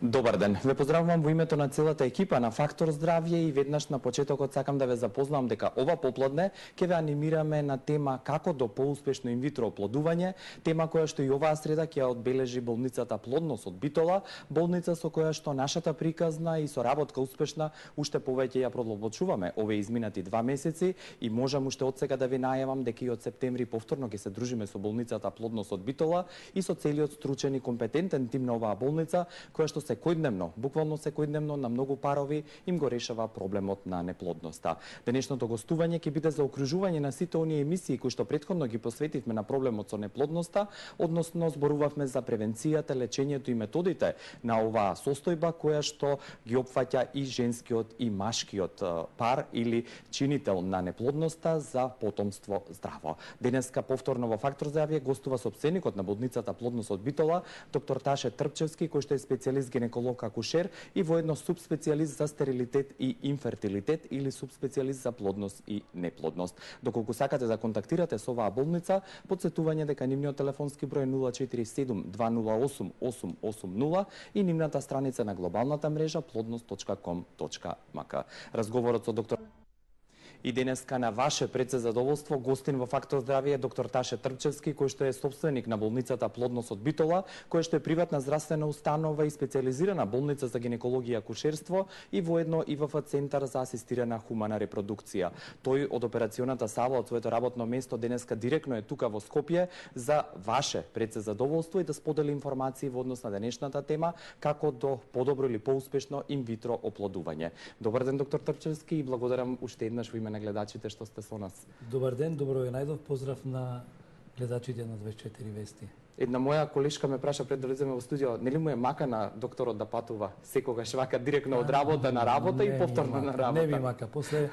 Добар ден. Ве поздравувам во името на целата екипа на Фактор Здравје и веднаш на почетокот сакам да ве запознам дека ова попладне ќе ве анимираме на тема како до поуспешно инвитро оплодување, тема која што и оваа среда ќе одбележи болницата Плодност од Битола, болница со која што нашата приказна и соработка успешна уште повеќе ја продлабочуваме овие изминати 2 месеци и можам уште од сега да ви најавам дека и од септември повторно ќе се дружиме со болницата Плодност од Битола и со целиот стручен и компетентен тим на оваа болница која што секојдневно, буквално секојдневно на многу парови им го решава проблемот на неплодноста. Денешното гостување ќе биде за окружување на сите оние емисии кои што претходно ги посветивме на проблемот со неплодноста, односно зборувавме за превенцијата, лечењето и методите на оваа состојба која што ги опфаќа и женскиот и машкиот пар или чинител на неплодноста за потомство здраво. Денеска повторно во Фактор Здравје гостува собственикот на болницата Плодност од Битола, доктор Таше Трпчевски, кој што е специјалист гинеколог акушер и воедно субспецијалист за стерилитет и инфертилитет или субспецијалист за плодност и неплодност. Доколку сакате да контактирате со оваа болница, потсетување дека нивниот телефонски број е 047 208 880 и нивната страница на глобалната мрежа plodnost.com.mk. Разговорот со доктор И денеска на ваше предзадоволство гостин во Фактор Здравје е доктор Таше Трпчевски, кој што е собственик на болницата Плодност од Битола, која што е приватна здравствена установа и специјализирана болница за гинекологија и акушерство и воедно ИВФ центар за асистирана хумана репродукција. Тој од операционата сала од своето работно место денеска директно е тука во Скопје за ваше предзадоволство и да сподели информации во однос на денешната тема како до подобро или поуспешно инвитро оплодување. Добар ден, доктор Трпчевски, и благодарам уште еднаш во име на гледачите што сте со нас. Добар ден, добро ве најдов, поздрав на гледачите на 24 вести. Една моја колешка ме праша пред да влеземе во студио, нели му е мака на докторот да патува секогаш вака директно од работа на работа и повторно на работа? Не ми мака, после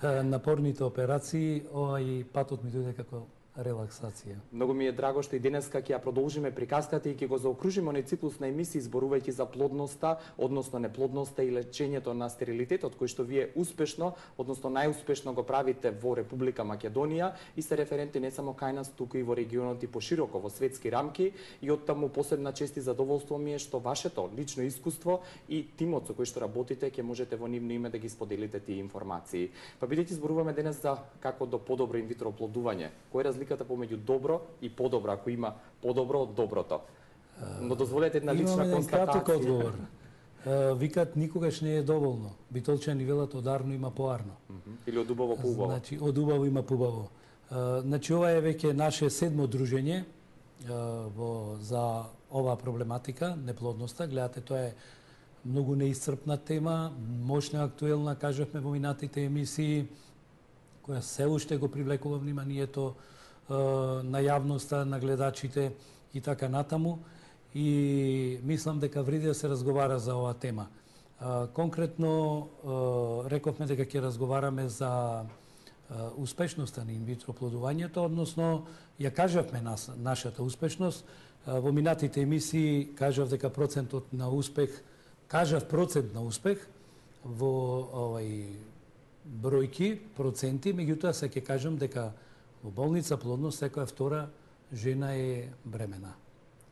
напорните операции, и патот ми дојде како релаксација. Многу ми е драго што и денеска ќе ја продолжиме приказката и ќе го заокружиме оној циклус на емисии зборувајќи за плодноста, односно неплодноста и лечењето на стерилитетот кој што вие успешно, односно најуспешно го правите во Република Македонија и се референти не само кај нас, туку и во регионот и пошироко во светски рамки и оттаму посебна чест и задоволство ми е што вашето лично искуство и тимот со кој што работите ќе можете во нивно име да ги споделите тие информации. Па бидејќи зборуваме денес за како до подобро инвитро оплодување, кој е разликата помеѓу добро и подобро, ако има подобро од доброто? Но дозволете една лична констатација. Краток одговор. Викат никогаш не е доволно. Битолчани велат одарно има поарно. Или од убаво по убаво. Значи од убаво има поубаво. Значи ова е веќе наше 7-мо дружење за оваа проблематика, неплодноста. Гледате, тоа е многу неисцрпна тема, мощна, актуелна, кажавме во минатите емисии, која се уште го привлекува вниманието на јавноста, на гледачите и така натаму. И мислам дека вреди да се разговара за оваа тема. Конкретно рековме дека ќе разговараме за успешноста на инвитро оплодувањето, односно ја кажавме нашата успешност. Во минатите емисии кажав дека процент на успех во бројки, проценти, меѓутоа се ќе кажам дека во болница Плодност секоја втора жена е бремена.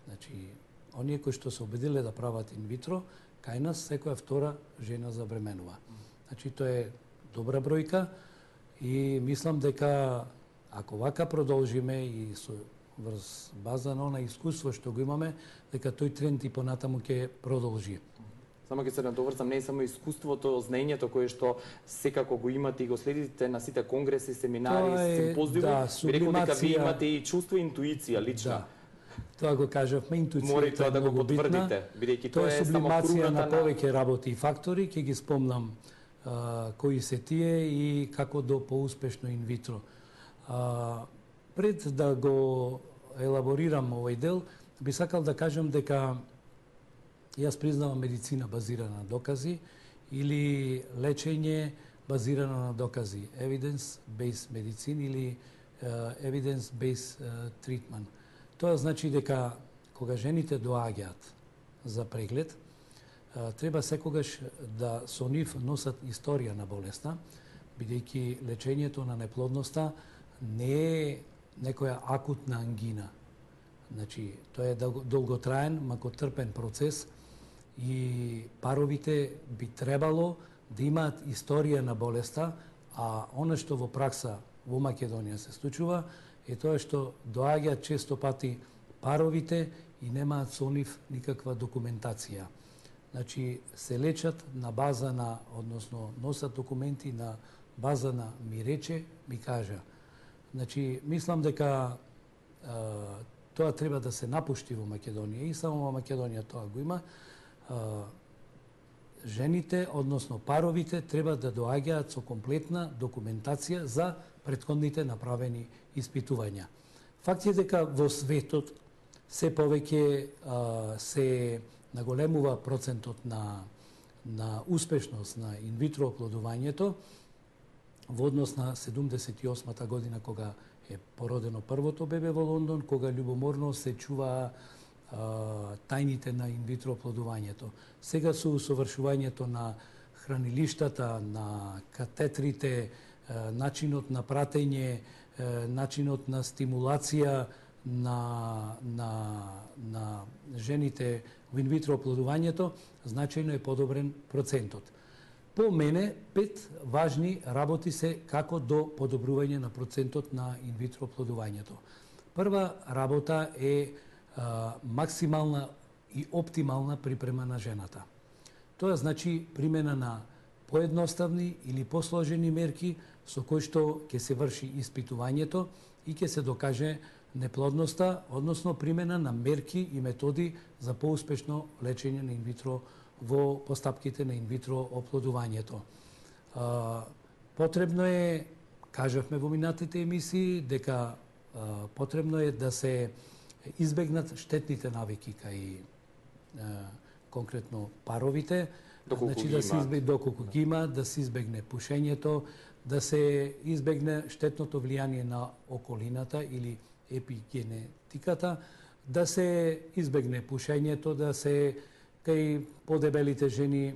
Значи, оние кои што се обидиле да прават инвитро, кај нас секоја втора жена забременува. Значи, тоа е добра бројка и мислам дека ако вака продолжиме и со врз база на она искуство што го имаме, дека тој тренд и понатаму ќе продолжи. Само ќе се надоврзам, не е само искуството, знаењето кое што секако го имате и го следите на сите конгреси, семинари, симпозиуми, би рекол дека вие имате и чувство и интуиција лична. Да. Тоа го кажавме, интуицијата Мори тоа да го потврдите, бидејќи тоа е само кругата на повеќе работи и фактори, ќе ги спомнам кои се тие и како до поуспешно инвитро. Пред да го елаборирам овој дел, би сакал да кажам дека јас признавам медицина базирана на докази или лечење базирано на докази, evidence-based medicine или evidence-based treatment. Тоа значи дека кога жените доаѓаат за преглед, треба секогаш да со нив носат историја на болеста, бидејќи лечењето на неплодноста не е некоја акутна ангина. Значи, тоа е долготраен, макотрпен процес и паровите би требало да имаат историја на болеста, а она што во пракса во Македонија се случува е тоа што доаѓаат често пати паровите и немаат со нив никаква документација. Значи, се лечат на база на, односно, носат документи на база на ми рече, ми кажа. Значи, мислам дека тоа треба да се напушти во Македонија и само во Македонија тоа го има. Жените, односно паровите, треба да доаѓаат со комплетна документација за претходните направени испитувања. Факт е дека во светот се повеќе се наголемува процентот на успешност на инвитро оплодувањето во однос на 78-та година кога е породено првото бебе во Лондон, кога љубоморно се чуваа тајните на инвитро оплодувањето. Сега со усовршувањето на хранилиштата, на катетрите, начинот на пратење, начинот на стимулација на жените во инвитро оплодувањето, значајно е подобрен процентот. По мене, 5 важни работи се како до подобрување на процентот на инвитро оплодувањето. Прва работа е максимална и оптимална припрема на жената. Тоа значи примена на поедноставни или посложени мерки со кои што ќе се врши испитувањето и ќе се докаже неплодноста, односно примена на мерки и методи за поуспешно лечење на инвитро во постапките на инвитро оплодувањето. Потребно е, кажавме во минатите емисии, дека потребно е да се избегнат штетните навики кај конкретно паровите, значи да се избегне доколку ги има, да се избегне пушењето, да се избегне штетното влијание на околината или епигенетиката, да се избегне пушењето, да се кај подебелите жени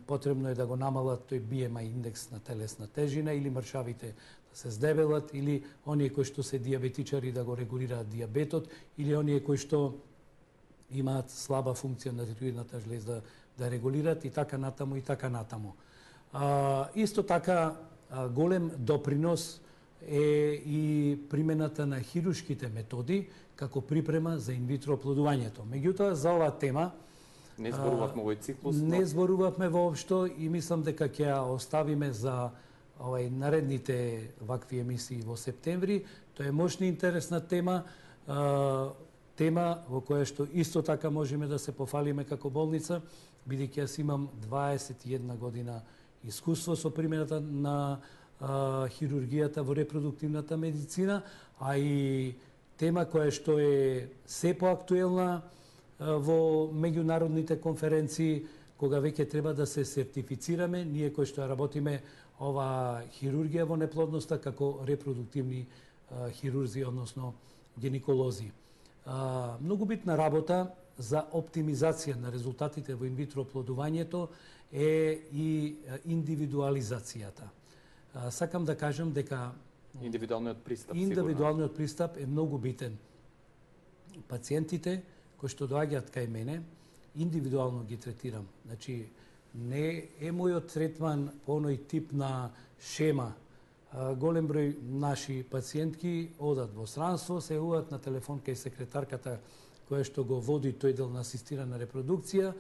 потребно е да го намалат тој BMI индекс на телесна тежина или мршавите да се здебелат или оние кои што се диабетичари да го регулираат диабетот или оние кои што имаат слаба функција на тироидната жлеза да регулираат и така натаму и така натаму. Исто така голем допринос е и примената на хируршките методи како припрема за инвитро оплодувањето. Меѓутоа за оваа тема не зборувавме овој циклус. Не зборувавме воопшто и мислам дека ќе ја оставиме за наредните вакви емисии во септември. Тоа е мощна интересна тема, тема во која што исто така можеме да се пофалиме како болница, бидејќи јас имам 21 година искуство со примената на хирургијата во репродуктивната медицина, а и тема која што е се поактуелна во меѓународните конференции, кога веќе треба да се сертифицираме, ние кои што работиме ова хирургија во неплодноста како репродуктивни хирурзи, односно гинеколози. Многу битна работа за оптимизација на резултатите во инвитро оплодувањето е и индивидуализацијата. Сакам да кажам дека индивидуалниот пристап е многу битен. Пациентите кои што доаѓаат кај мене, индивидуално ги третирам. Значи, не е мојот третман по оној тип на шема. Голем број наши пациентки одат во странство, се јавуваат на телефон кај секретарката која што го води тој дел на асистирана репродукција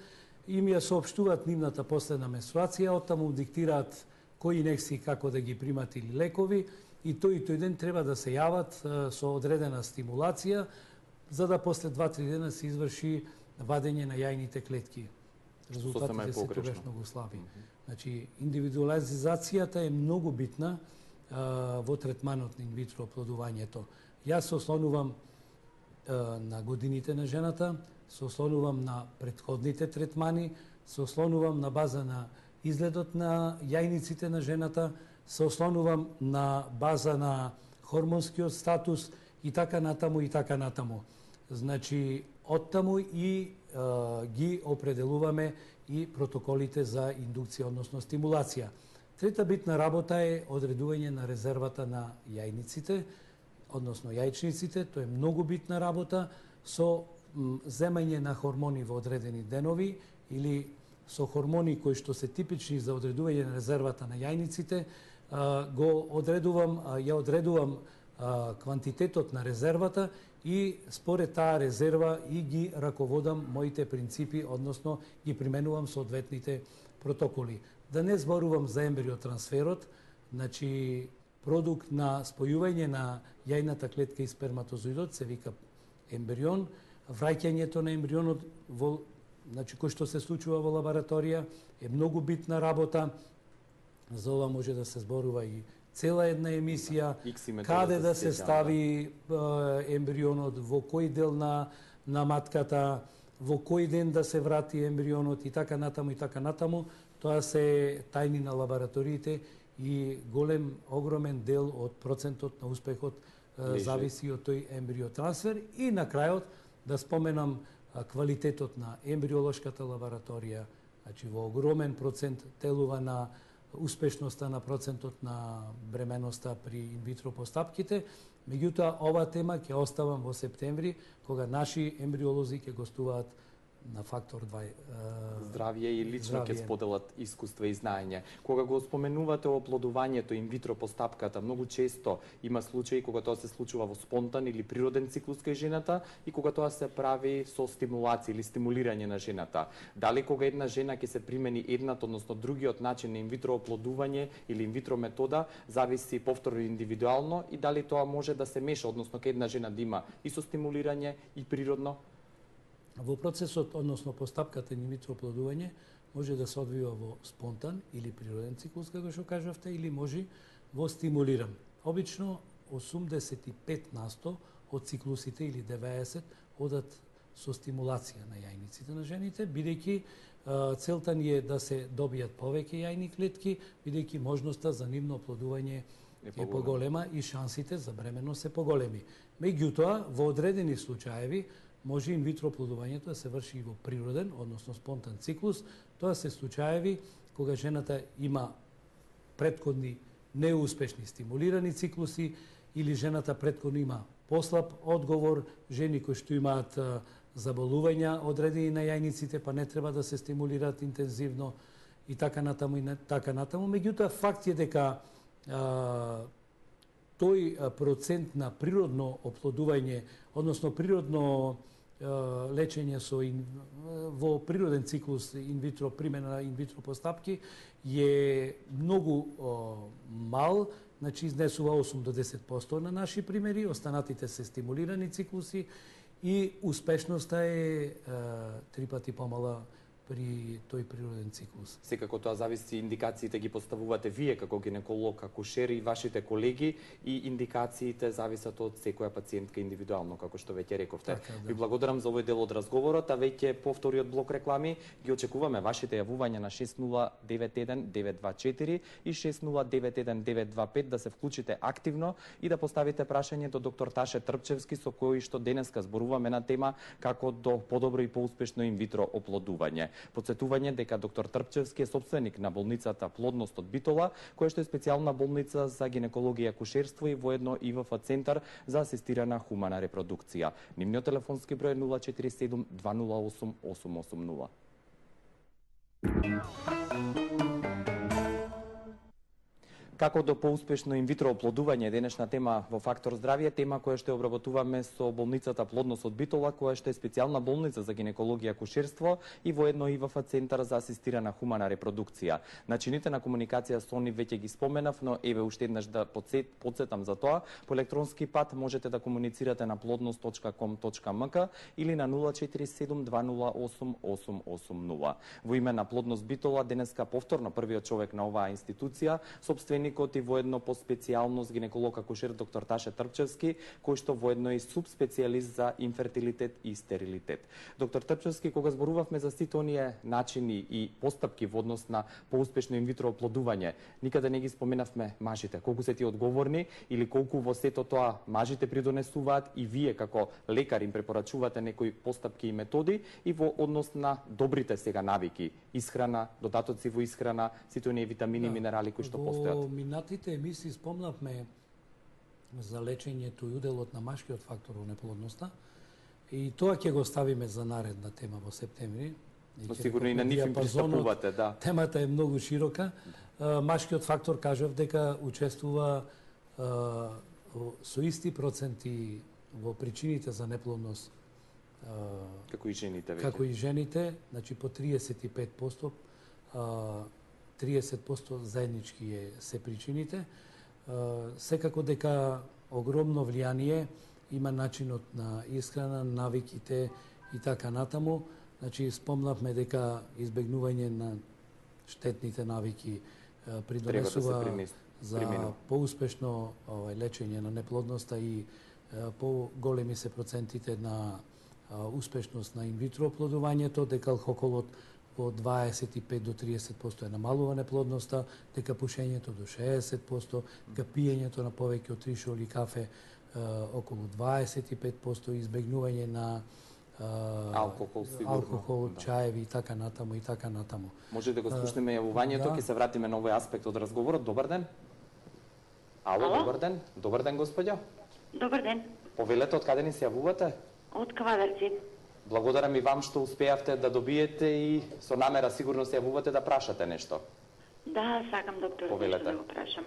и ми ја соопштуваат нивната последна менструација, оттаму диктираат кои инекции како да ги примат или лекови и тој ден треба да се јават со одредена стимулација за да после 2-3 дена се изврши вадење на јајните клетки. Резултатите се тогаш многу слаби. Значи, индивидуализацијата е многу битна во третманот на инвитро оплодувањето. Јас се ослонувам на годините на жената, се ослонувам на претходните третмани, се ослонувам на база на изгледот на јајниците на жената, се ослонувам на база на хормонскиот статус и така натаму и така натаму. Значи, оттаму и ги определуваме и протоколите за индукција, односно стимулација. Трета битна работа е одредување на резервата на јајниците, односно јајчниците. Тоа е многу битна работа со земање на хормони во одредени денови или со хормони кои што се типични за одредување на резервата на јајниците, ја одредувам квантитетот на резервата и според таа резерва и ги раководам моите принципи, односно ги применувам соодветните протоколи. Да не зборувам за ембриотрансферот, значи продукт на спојување на јајната клетка и сперматозоидот се вика ембрион, враќањето на ембрионот значи кој што се случува во лабораторија е многу битна работа. За ова може да се зборува и цела една емисија, каде да се стави ембрионот, во кој дел на матката, во кој ден да се врати ембрионот и така натаму. Тоа се тајни на лабораториите и огромен дел од процентот на успехот зависи од тој ембриотрансфер. И на крајот да споменам квалитетот на ембриолошката лабораторија, значи во огромен процент телува на успешноста на процентот на бременоста при инвитро постапките. Меѓутоа, ова тема ќе оставам во септември, кога наши ембриолози ќе гостуваат на Фактор 2 здравје и лично ќе споделат искуства и знаење. Кога го споменувате оплодувањето инвитро постапката, многу често има случаи кога тоа се случува во спонтан или природен циклус кај жената и кога тоа се прави со стимулација или стимулирање на жената. Дали кога една жена ќе се примени еднат, односно другиот начин на инвитро оплодување или инвитро метода, зависи повторно индивидуално и дали тоа може да се меша, односно кај една жена да има и со стимулирање и природно? Во процесот, односно постапката инвитро оплодување, може да се одвива во спонтан или природен циклус, како што кажавте, или може во стимулиран. Обично 85% од циклусите или 90% одат со стимулација на јајниците на жените, бидејќи целта ни е да се добијат повеќе јајни клетки, бидејќи можноста за нивно оплодување е поголема и шансите за бременност се поголеми. Меѓутоа, во одредени случаеви може инвитро оплодувањето да се врши и во природен, односно спонтан циклус. Тоа се случаеви кога жената има претходни неуспешни стимулирани циклуси или жената претходно има послаб одговор, жени кои што имаат заболувања одредени на јајниците, па не треба да се стимулираат интензивно и така натаму. Меѓутоа, факт е дека тој процент на природно оплодување, односно природно лечење во природен циклус инвитро, примена на инвитро постапки е многу мал, значи изнесува 8 до 10% на наши примери, останатите се стимулирани циклуси и успешноста е 3 пати помала при тој природен циклус. Секако тоа зависи, индикациите ги поставувате вие како гинеколог, акушер и вашите колеги и индикациите зависат од секоја пациентка индивидуално, како што веќе рековте. Така, да. Ви благодарам за овој дел од разговорот, а веќе по вториот блок реклами ги очекуваме вашите јавувања на 6091-924 и 6091-925 да се вклучите активно и да поставите прашање до доктор Таше Трпчевски, со кој што денеска зборуваме на тема како до подобро и поуспешно инвитро оплодување. Подсетување дека доктор Трпчевски е собственик на болницата Плодност од Битола, која што е специјална болница за гинекологија и акушерство и воедно ИВФ центар за асистирана хумана репродукција. Нивниот телефонски број е 047 208 880. Како до поуспешно инвитро оплодување, денешна тема во Фактор здравје, тема која што обработуваме со болницата Плодност од Битола, која што е специјална болница за гинекологија и акушерство и воедно ИВФ центар за асистирана хумана репродукција. Начините на комуникација со нив веќе ги споменав, но еве уште еднаш да потсетам за тоа. По електронски пат можете да комуницирате на plodnost.com.mk или на 047 208 880. Во име на Плодност Битола денеска повторно првиот човек на оваа институција, собственик и воедно по специјалност гинеколог акушер доктор Таше Трпчевски, кој што воедно е субспецијалист за инфертилитет и стерилитет. Доктор Трпчевски, кога зборувавме за сите оние начини и постапки во однос на поуспешно инвитро оплодување, никаде не ги споменавме мажите. Колку се ти одговорни или колку во сето тоа мажите придонесуваат и вие како лекар им препорачувате некои постапки и методи и во однос на добрите сега навики, исхрана, додатоци во исхрана, сите оние витамини и минерали кои што постојат. Во минатите емисии спомнавме за лечењето и уделот на машкиот фактор во неплодноста и тоа ќе го ставиме за наредна тема во септември. Но сигурно и на нив им пристапувате, да. Темата е многу широка. Машкиот фактор, кажав дека учествува со исти проценти во причините за неплодност како и жените веќе. Како и жените, значи по 35%, 30% заеднички се причините. Секако дека огромно влијание има начинот на исхрана, навиките и така натаму. Значи спомнавме дека избегнување на штетните навики придонесува за поуспешно лечење на неплодноста и поголеми се процентите на успешност на инвитро оплодувањето, дека алкохолот во 25 до 30% е намалува неплодноста, дека пушењето до 60%, дека пиењето на повеќе од 3 шоли кафе околу 25%, избегнување на алкохол, сигурно. Алкохол, чаеви и така натаму и така натаму. Може да го слушнеме јавувањето, ќе се вратиме на овој аспект од разговорот. Добар ден. Ало, добар ден. Добар ден, господјо. Добар ден. Повелете, од каде ни се јавувате? Од Квадарци. Благодарам и вам што успеавте да добиете и со намера сигурно се јавувате да прашате нешто. Да, сакам доктор Повелете. да го прашам.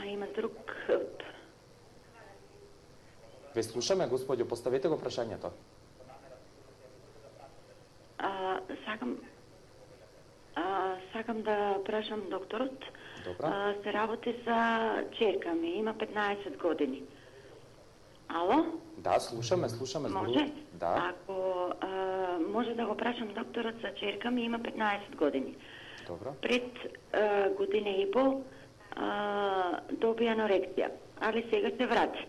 Има друг... Ве слушаме, господјо, поставете го прашањето. Сакам да прашам докторот. Добра. Се работи за черка ми, има 15 години. Ало? Да, слушаме. Може? Да. Ако може да го прашам докторот за черка ми, има 15 години. Добро. Пред година и пол доби анорексија, али сега се врати.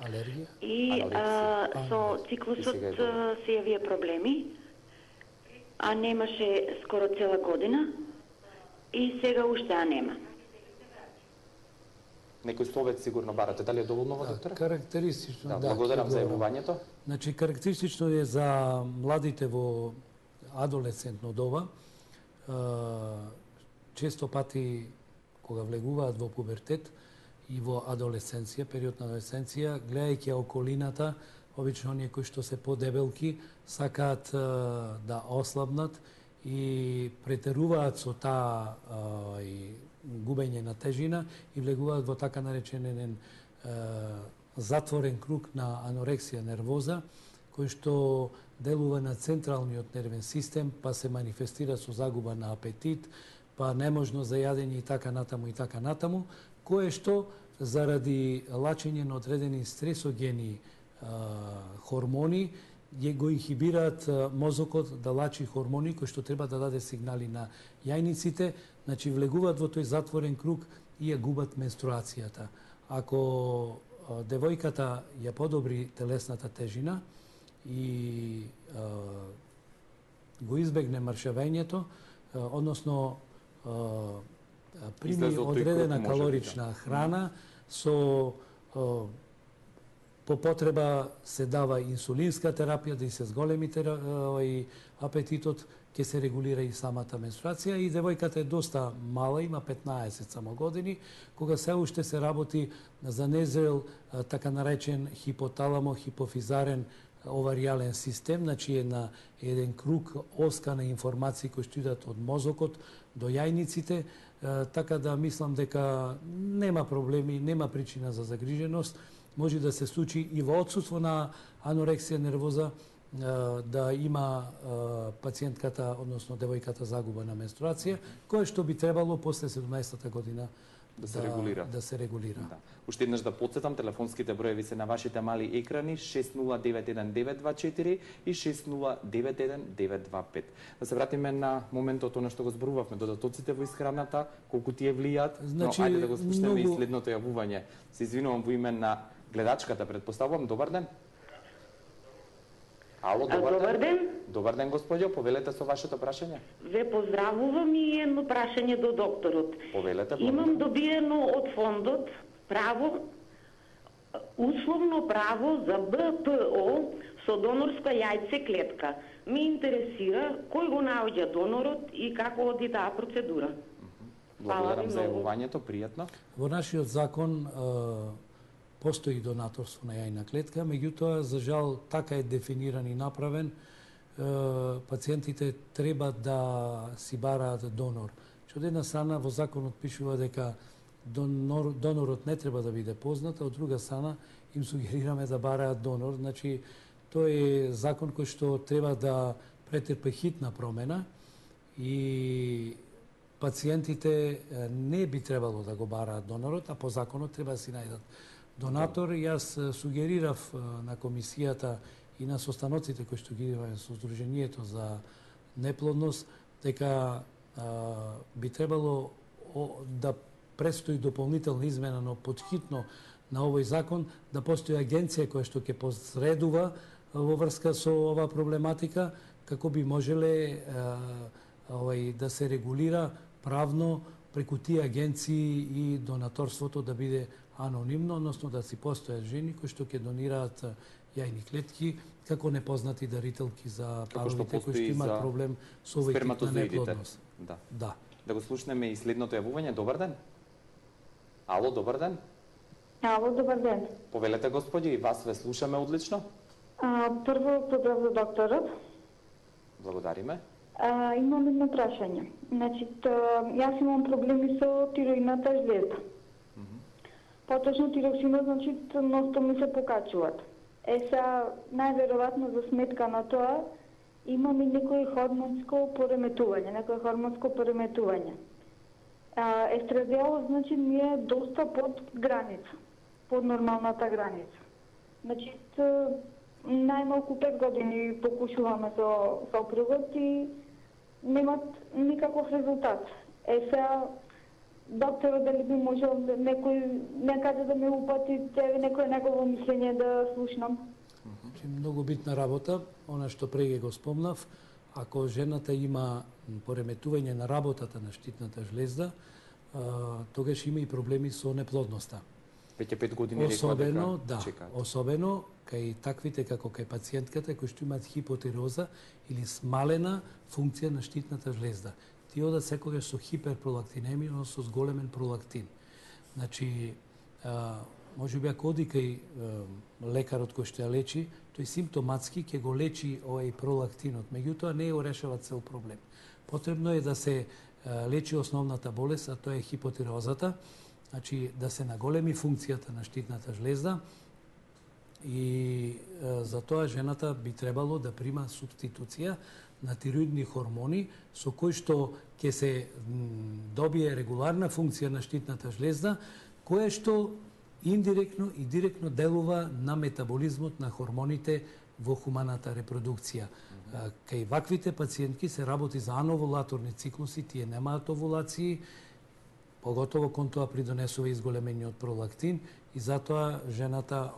Алергија? И со циклусот се јавија проблеми, а немаше скоро цела година и сега уште нема. Некој совет сигурно барате, дали е доволно во доктора? Карактеристично, да. Благодарам за јавувањето. Значи, карактеристично е за младите во адолесцентно доба. Често пати, кога влегуваат во пубертет и во адолесценција, период на адолесценција, гледајќи околината, обично оние кои што се подебелки, сакаат да ослабнат и претеруваат со таа губење на тежина и влегуваат во така наречен затворен круг на анорексија нервоза, кој што делува на централниот нервен систем, па се манифестира со загуба на апетит, па неможност за јадење и така натаму, кое што заради лачење на одредени стресогени хормони го инхибираат мозокот да лачи хормони кои што треба да даде сигнали на јајниците, значи влегуваат во тој затворен круг и ја губат менструацијата. Ако девојката ја подобри телесната тежина и го избегне маршавењето, односно прими одредена калорична храна, со по потреба се дава инсулинска терапија да и се зголеми апетитот, ќе се регулира и самата менструација и девојката е доста мала, има 15 само години, кога се уште се работи за незрел така наречен хипоталамо-хипофизарен оваријален систем, значи е на еден круг оска на информации кои што идат од мозокот до јајниците, така да мислам дека нема проблеми, нема причина за загриженост, може да се случи и во отсутство на анорексија нервоза да има пациентката, односно девојката загуба на менструација, кое што би требало после 17-та година да се регулира. Да. Уште еднаш да потсетам, телефонските броеви се на вашите мали екрани 6091-924 и 6091-925. Да се вратиме на моментот на што го зборувавме, додатоците во исхраната, колку тие влијаат, значи, но ајде да го слушнеме и следното јавување. Се извинувам во име на гледачката, предпоставувам. Добар ден. Ало, добар ден. Добар ден, господјо, повелете со вашето прашање. Ве поздравувам и едно прашање до докторот. Повелете. Имам добиено од фондот право, условно право за БПО со донорска јајце клетка. Ме интересира кој го наоѓа донорот и како оди таа процедура. Благодарам за јавувањето, пријатно. Во нашиот закон постои донаторство на јајна клетка, меѓутоа, за жал, така е дефиниран и направен пациентите треба да си бараат донор. Од една страна во законот пишува дека донорот не треба да биде познат, а од друга страна им сугерираме да бараат донор. Значи, тој е закон кој што треба да претрпе хитна промена и пациентите не би требало да го бараат донорот, а по законот треба да си најдат донатор. Јас сугерирав на комисијата и на состаноците кои што ги имаме со Сдруженијето за неплодност дека би требало да престои дополнителна измена, но подхитно на овој закон да постои агенција која што ќе посредува во врска со оваа проблематика, како би можеле да се регулира правно преку тие агенции и донаторството да биде анонимно, односно да си постојат жени кои што ќе донираат јајни клетки како непознати дарителки за паровите кои што имаат проблем со овој тип на неплодност. Да. Да го слушнеме и следното јавување. Добар ден. Ало, добар ден. Ало, добар ден. Повелете, господи, и вас ве слушаме одлично. Прво, поздрав за докторот. Благодариме. Имам едно прашање. Значи, јас имам проблеми со тироидната жлезда. Поточно тироксинот, значи, носто ми се покачуваат. Сега, најверојатно за сметка на тоа, имам и некој хормонско пореметување. Естрадиолот, значи, ми е доста под граница, под нормалната граница. Значи, најмалку 5 години покушуваме со сопругот и немат никаков резултат. Сега, докторот дали би можел некаде да ме упати, некој негово мислење да слушнам? Многу битна работа, она што преге го спомнав, ако жената има пореметување на работата на штитната жлезда, тогаш има и проблеми со неплодноста. Веќе 5 години рекла дека чекаат. Особено кај таквите како кај пациентката кои што имаат хипотироза или смалена функција на штитната жлезда. Тие одат секогаш со хиперпролактинемија, односно со зголемен пролактин. Значи, може би ако оди кај лекарот кој што ја лечи, тој симптоматски ќе го лечи овој пролактинот, меѓутоа не го решава цел проблем. Потребно е да се лечи основната болест, а тоа е хипотирозата, значи да се наголеми функцијата на штитната жлезда и за тоа жената би требало да прима субституција на тироидни хормони со кои што ќе се добие регуларна функција на штитната жлезда, која што индиректно и директно делува на метаболизмот на хормоните во хуманата репродукција. Кај ваквите пациентки се работи за ановулаторни циклуси, тие немаат овулации, поготово кон тоа придонесува изголемениот пролактин и затоа жената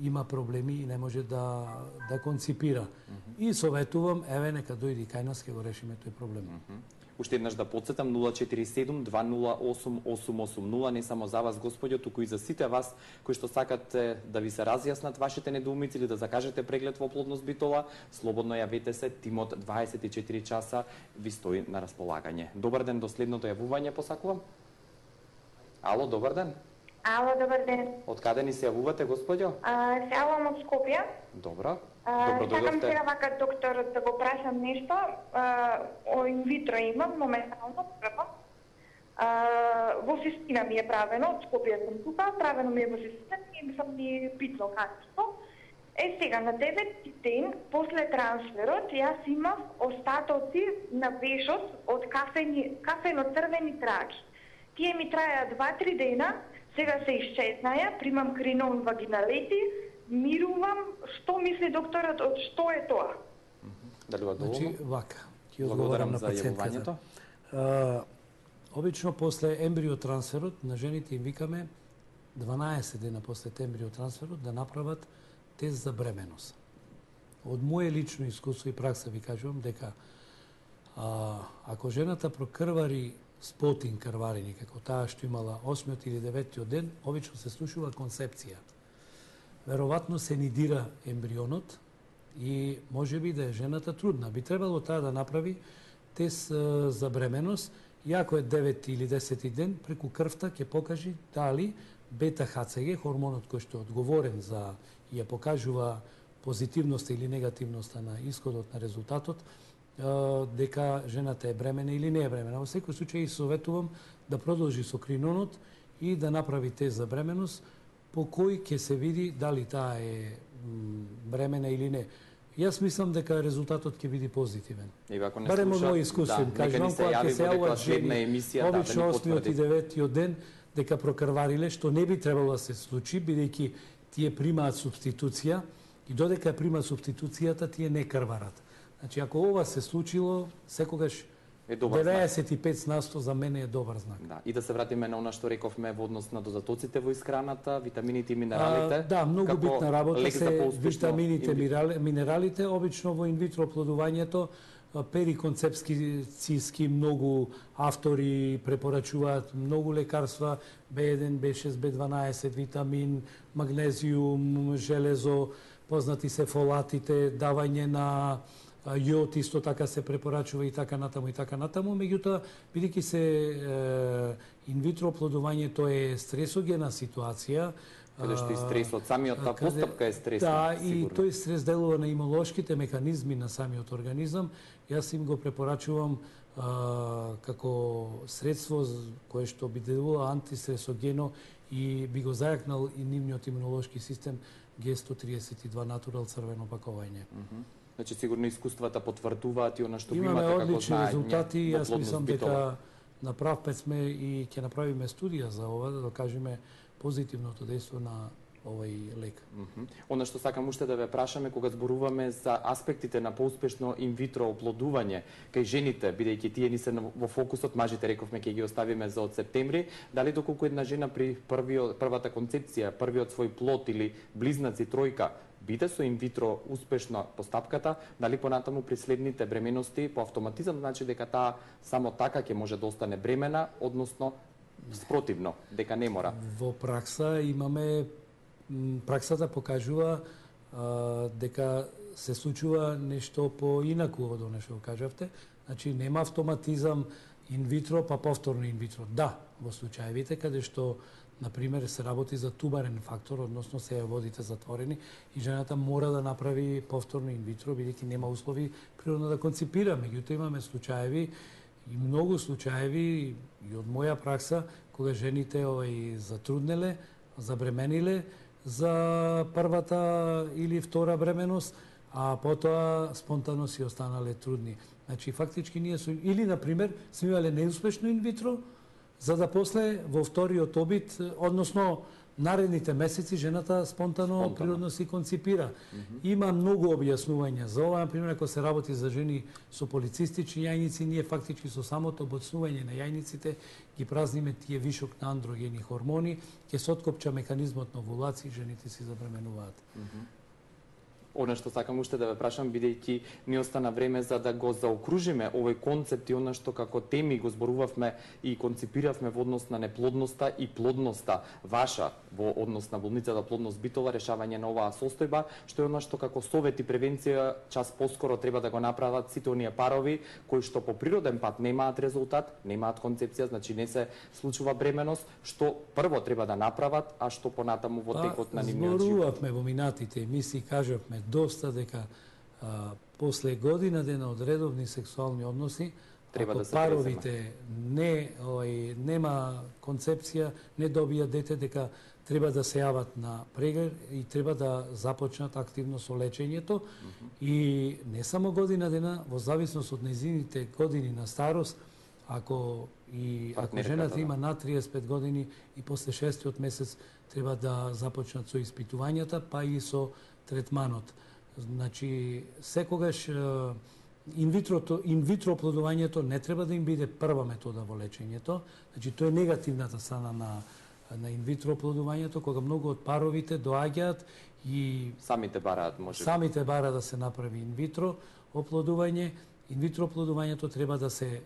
има проблеми и не може да конципира. И советувам, еве нека дојди кај нас, ќе го решиме тој проблем. Уште еднаш да подсетам 047-208-880, не само за вас, господјо, туку и за сите вас кои што сакате да ви се разјаснат вашите недоумици или да закажете преглед во Плодност Битола, слободно јавете се, тимот 24 часа ви стои на располагање. Добар ден, до следното јавување посакувам. Ало, добар ден. Ало, добар ден. Од каде ни се јавувате, господјо? Се јавувам од Скопје. Добро. Сакам сега вака докторот да го прашам нешто. Инвитро имам, моментално прво. Во Систина ми е правено, од Скопје сум тука, правено ми е во Систина и сам ми питно качество. Сега на 9 ден, после трансферот, јас имав остатоци на вешот од кафено-црвени траки. Тие ми траја 2-3 дена, сега се исчезнаја, примам кринон вагиналети, мирувам. Што мисли докторот, од што е тоа? Дали ва доволно? Значи, вака, ќе одговорам на пациентката. Обично после ембриотрансферот на жените им викаме 12 дена после ембриотрансферот да направат тест за бременост. Од моје лично искуство и пракса ви кажувам дека ако жената прокрвари спотин крварење, како таа што имала 8 или 9 ден, обично се слушува концепција. Веројатно се нидира ембрионот и може би да е жената трудна. Би требало таа да направи тест за бременост и ако е 9 или 10 ден, преку крвта ќе покажи дали бета-ХЦГ, хормонот кој што е одговорен за и ја покажува позитивноста или негативноста на исходот на резултатот, дека жената е бремена или не е бремена. Во секој случај советувам да продолжи со кринонот и да направи тест за бременост, по кој ќе се види дали таа е бремена или не. Јас мислам дека резултатот ќе биде позитивен. Барем од мој искуство, кажувам, кога ќе се јават жени, обично 8-от и 9-тиот ден, дека прокрвариле, што не би требало да се случи, бидејќи тие примаат субституција и додека примаат субституцијата, тие не крварат. Значи, ако ова се случило, секогаш 95% за мене е добар знак. Да, и да се вратиме на она што рековме во однос на дозатоците во исхраната, витамините и минералите. Да, многу битна работа се витамините, минералите. Обично во инвитро оплодувањето периконцепцијски многу автори препорачуваат многу лекарства, B1, B6, B12, витамин, магнезиум, железо, познати се фолатите, давање на јод исто така се препорачува и така натаму и така натаму, меѓутоа бидејќи се инвитро оплодувањето е стресогена ситуација, каде што и стресот, самиот та постапка е стресна. Да, и тој стрес делува на имунолошките механизми на самиот организам. Јас им го препорачувам како средство кое што би делува антистресогено и би го зајакнал и нивниот имунолошки систем G132 Natural црвено пакување. Значи сигурно искуствата потврдуваат и она што ви имаме имате како одлични знаење. резултати. Јас мислам дека на прав пат сме и ќе направиме студија за ова, да докажеме позитивното дејство на овој лек. Она што сакам уште да ве прашаме кога зборуваме за аспектите на поуспешно инвитро оплодување кај жените, бидејќи тие ни се во фокусот, мажите рековме ќе ги оставиме за од септември, дали доколку една жена при првата концепција, првиот свој плод или близнаци тројка биде со инвитро успешна постапката, дали понатаму при следните бременности по автоматизам значи дека таа само така ќе може да остане бремена, односно спротивно, дека не мора. Во пракса имаме праксата покажува дека се случува нешто поинаку од она што кажавте. Значи нема автоматизам инвитро па повторно инвитро. Да, во случаевите каде што например се работи за тубарен фактор, односно се водите затворени и жената мора да направи повторно инвитро бидејќи нема услови природно да концепира. Меѓутоа имаме случаеви и многу случаеви и од моја пракса кога жените затруднеле, забремениле за првата или втора бременост, а потоа спонтано си останале трудни. Значи фактички ние или например сме имале неуспешно инвитро, за да после во вториот обид, односно наредните месеци жената спонтано природно си концепира. Има многу објаснувања за ова, например ако се работи за жени со полицистични јајници, ние фактички со самото обоцнување на јајниците ги празниме тие вишок на андрогени хормони, ќе се откопча механизмот на овулација и жените си забременуваат. Она што сакам уште да ве прашам, бидејќи ни остана време за да го заокружиме овој концепт и она што како теми го зборувавме и концепиравме во однос на неплодноста и плодноста ваша во однос на болницата Плодност Битола, решавање на оваа состојба, што е она што како совет и превенција час поскоро треба да го направат сите оние парови кои што по природен пат немаат резултат, немаат концепција, значи не се случува бременост, што прво треба да направат, а што понатаму во текот на нивниот живот. Зборувавме во минатите емисии, кажавме доста дека после година дена од редовни сексуални односи, треба ако да се паровите нема концепција, не добија дете, дека треба да се јават на преглед и треба да започнат активно со лечењето. И не само година дена, во зависност од нејзините години на старост, ако жената има над 35 години и после 6-тиот месец треба да започнат со испитувањата, па и со третманот. Значи, секогаш инвитро оплодувањето не треба да им биде прва метода во лечењето. Значи, тоа е негативната страна на инвитро оплодувањето, кога многу од паровите доаѓаат и самите бараат, може. Самите бара да се направи инвитро оплодување. Инвитро оплодувањето треба да се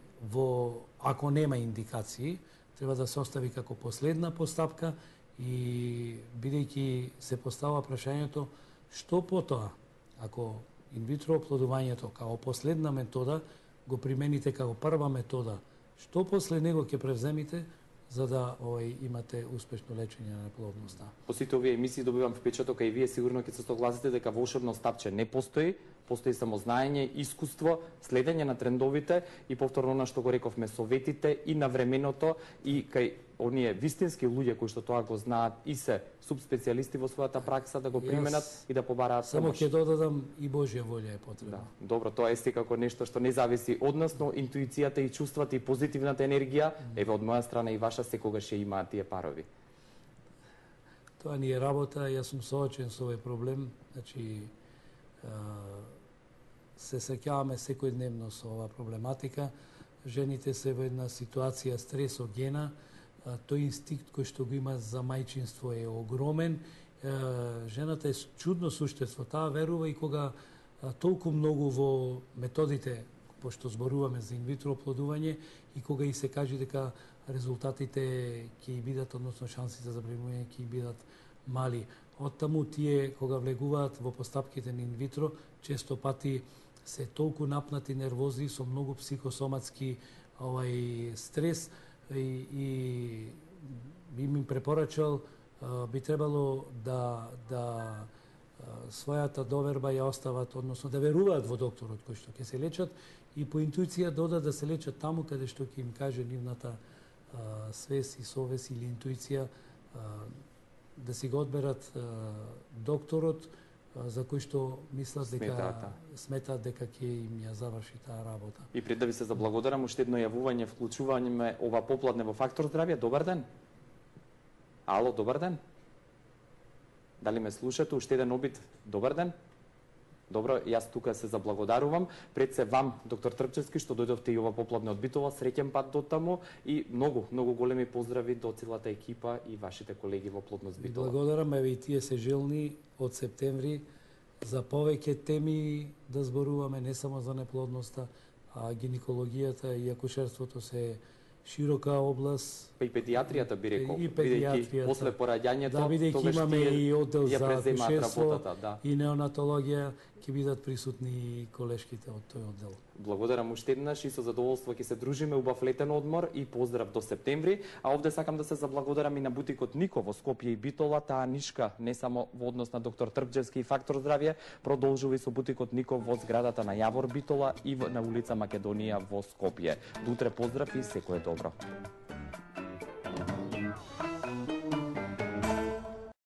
ако нема индикации, треба да се остави како последна постапка и бидејќи се поставува прашањето што потоа, ако инвитро оплодувањето како последна метода го примените како прва метода, што после него ќе превземите, за да имате успешно лечење на неплодноста. По сите овие емисии добивам впечаток, а и вие сигурно ќе се согласите дека волшебно стапче не постои, постои само знаење, искуство, следење на трендовите и повторно она што го рековме, советите и на временото и кај оние вистински луѓе кои што тоа го знаат и се субспецијалисти во својата пракса да го применат и да побараат само помош. ќе додадам и Божја волја е потребна. Да, добро, тоа е секако нешто што не зависи од нас, но интуицијата и чувствата и позитивната енергија, еве од моја страна и ваша секогаш ја имаат тие парови. Тоа ни е работа, јас сум соочен со овој проблем, значи се сеќаваме секојдневно со оваа проблематика. Жените се во една ситуација стресогена, тој инстинкт кој што го има за мајчинство е огромен. Жената е чудно суштество, таа верува и кога толку многу во методите, пошто зборуваме за инвитро оплодување, и кога и се каже дека резултатите ќе бидат, односно шансите за преминување ќе бидат мали. Оттаму тие кога влегуваат во постапките на инвитро, често пати се толку напнати, нервози, со многу психосоматски стрес и би им препорачал, би требало да својата доверба ја остават, односно да веруваат во докторот кој што ќе се лечат и по интуиција да се лечат таму каде што ќе им каже нивната свес и совест или интуиција, да си го одберат докторот за кој што мислат дека сметаат дека ќе им ја заврши таа работа. И пред да ви се заблагодарам, уште едно јавување, вклучување ова попладне во Фактор здравје. Добар ден. Ало, добар ден. Дали ме слушате? Уште еден обид. Добар ден. Добро, јас тука се заблагодарувам. Пред се вам, доктор Трпчевски, што дојдовте и ова попладне од Битола. Среќен пат до таму и многу големи поздрави до целата екипа и вашите колеги во Плодност Битола. Благодарам, еве и тие се желни од септември за повеќе теми да зборуваме, не само за неплодноста, а гинекологијата и акушерството се широка област. Па и педиатријата би рекол, и педиатријата. После пораѓањето, да, бидејќи имаме и оддел за акушерство да. и неонатологија, ќе бидат присутни и колешките од тој оддел. Благодарам уште еднаш и со задоволство ќе се дружиме, убав летен одмор и поздрав до септември. А овде сакам да се заблагодарам и на бутикот Нико во Скопје и Битола, таа нишка не само во однос на доктор Трпчевски и Фактор здравје, продолжува и со бутикот Нико во зградата на Јавор Битола и на улица Македонија во Скопје. До утре поздрав и секое добро.